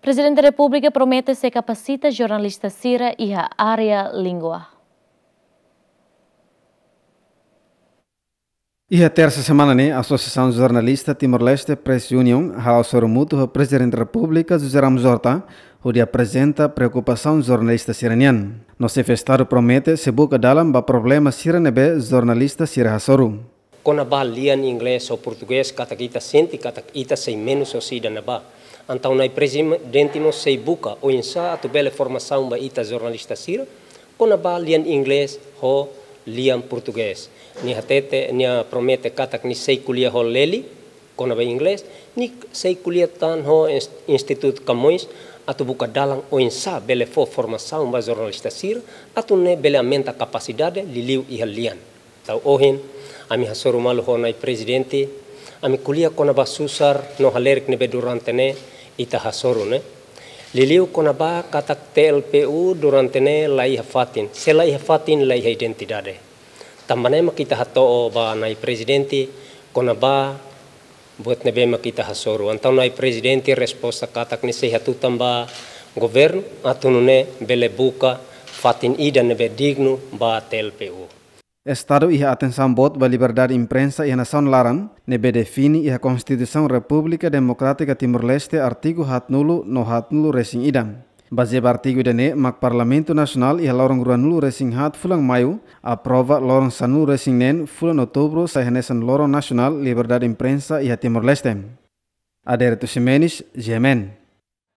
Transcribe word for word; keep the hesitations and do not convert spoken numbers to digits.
Prezidente Repúblika promete sei kapasita jornalista sira iha área língua. Iha tersa semana ne'e, Asosiasaun Jornalista Timor-Leste, Press Union, hala'o hasoru mútuu ho Prezidente Repúblika José Ramos Horta, hodi aprezenta preokupasaun jornalista sira-nian. No xefe Estadu promete sei buka dalan ba problema sira ne'ebé jornalista sira hasoru. Kona-ba lian inglés ou portugés, katak ita sente katak ita sei menus husi ida-ne'ebá. Entaun Na'i Prezidente mós sei buka oinsá atu bele formasaun ba ita jornalista sira kona-ba lian inglés ho lian portugés. Nia hatete, nia promete katak nia sei ko'alia ho Lely kona-ba inglés, nia sei ko'alia tan ho ins-, Institutu Camões atu buka dalan oinsá bele fó formasaun ba jornalista sira, atu nune'e bele aumenta kapasidade liuliu iha lian. Entaun ohin, ami hasoru malu ho Na'i Prezidente, ami ko'alia kona-ba susar no halerik ne'ebé durante ne'e ita hasoru ne'e. Liuliu kona-ba katak T L P U durante ne'e la iha fatin, se la iha fatin la iha identidade. Tanba ne'e mak ita hato'o ba Na'i Prezidente kona-ba buat ne'ebé mak ita hasoru. Entaun Na'i Prezidente resposta katak nia sei hatutan ba governu atu nune'e bele buka fatin ida ne'ebé dignu ba T L P U. Estadu iha atensaun boot ba liberdade imprensa iha nasaun laran, ne'ebé define iha Konstituisaun Repúblika Demokrátika Timor-Leste artigu haatnulu no haatnulu resin ida. Bazeia ba artigu ida-ne'e mak Parlamentu Nasionál iha loron ruanulu resin haat fulan Maiu aprova loron sanulu resin neen fulan Outubru sai hanesan Loron Nasionál Liberdade Imprensa iha Timor-Leste. Adérito Ximenes, G M N.